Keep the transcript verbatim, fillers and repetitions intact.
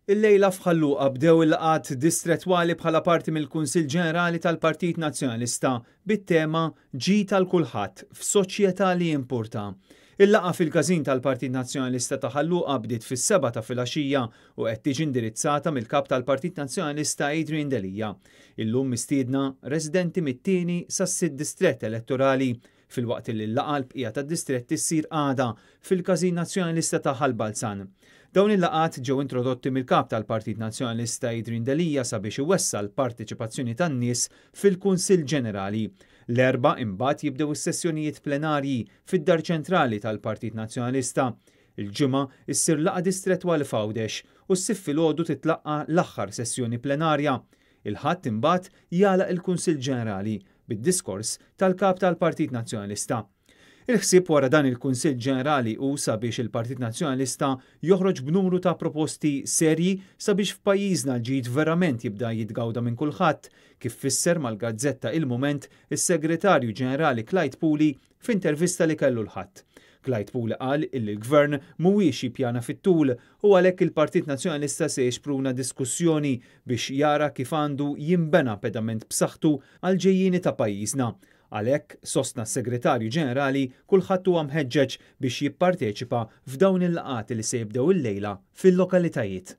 Illejla f'Ħal Luqa bdew il-laqgħat distrettwali bħala parti mill-Kunsill Ġenerali tal-Partit Nazzjonalista bit-tema "Ġid għal Kulħadd f'Soċjetà li Jimpurta". Il-laqgħa fil-każin tal-Partit Nazzjonalista ta' Ħal Luqa bdiet fis-sebgħa ta' filgħaxija u qed tiġi indirizzata mill-Kap tal-Partit Nazzjonalista Adrian Delia. Illum mistiedna residenti mit-tieni sas-sitt distrett elettorali, filwaqt li l-laqgħa l-bqija tad-distretti ssir għada fil-Każin Nazzjonalista ta' Ħal Balzan. Dawn il-laqgħat ġew introdotti mill-Kap tal-Partit Nazzjonalista Adrian Delia sabiex iwessa' l-parteċipazzjoni tan-nies fil-Kunsill Ġenerali. L-Erbgħa imbagħad jibdew is-sessjonijiet plenarji fid-Dar Ċentrali tal-Partit Nazzjonalista. Il-Ġimgħa issir laqgħa distrettwali f'Għawdex u s-Sibt filgħodu titlaqqa l-aħħar sessjoni plenarja. Il-Ħadd imbagħad jagħlaq il-Kunsill Ġenerali bid-diskors tal-Kap tal-Partit Nazzjonalista. Il-ħsieb wara dan il-Kunsill Ġenerali hu sabiex il-Partit Nazzjonalista joħroġ b'numru ta' proposti serji sabiex f'pajjiżna l-ġid verament jibda jitgawda minn kulħadd, kif fisser mal-gazzetta Il-Mument is-Segretarju Ġenerali Clyde Puli f'intervista li kellu l-Ħadd. Clyde Puli qal illi l-Gvern mhuwiex jippjana fit-tul u għalhekk il-Partit Nazzjonalista se jixpruna diskussjoni biex jara kif għandu jinbena pedament b'saħħtu għal ġejjieni ta' pajjiżna. Għalhekk, sostna s-Segretarju Ġenerali, kulħadd huwa mħeġġeġ biex jipparteċipa f'dawn il-laqgħat li se jibdew illejla fil-lokalitajiet.